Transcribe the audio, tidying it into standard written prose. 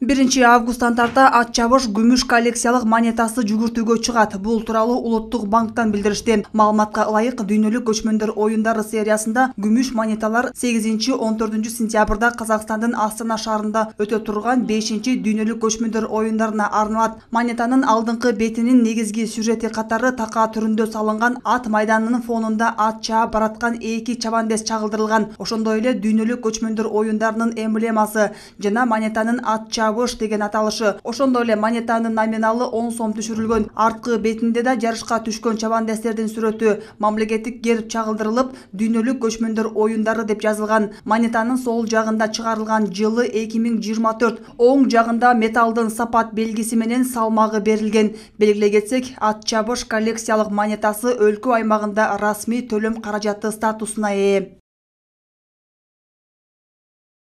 1-августтан тарта ат чабыш күмүш коллекциялык монетасы жүгүртүүгө чыгат. Бул тууралуу Улуттук банктан билдиришти. Маалыматка ылайык, дүйнөлүк көчмөндөр оюндары сериясында күмүш монеталар 8-14 сентябрда Казакстандын Астана шаарында өтө турган 5-дүйнөлүк көчмөндөр оюндарына арналат. Монетанын алдыңкы бетинин негизги сюжети катары такаа түрүндө салынган ат майданынын фонунда ат чаап бараткан эки чабандес чагылдырылган. Ошондой эле дүйнөлүк көчмөндөр оюндарынын эмблемасы жана монетанын ат чабыш деген аталышы. Ошондой эле монетанын номиналы 10 сом түшүрүлгөн. Арткы бетинде да жарышка түшкөн чабандестердин сүрөтү, мамлекеттик герб чагылдырылып, дүйнөлүк көчмөндөр оюндары деп жазылган. Монетанын сол жагында чыгарылган жылы 2024, оң жагында металлдын сапат белгиси менен салмагы берилген. Белгилей кетсек, ат чабыш коллекциялык монетасы өлкө аймагында расмий төлөм каражаты статусуна ээ.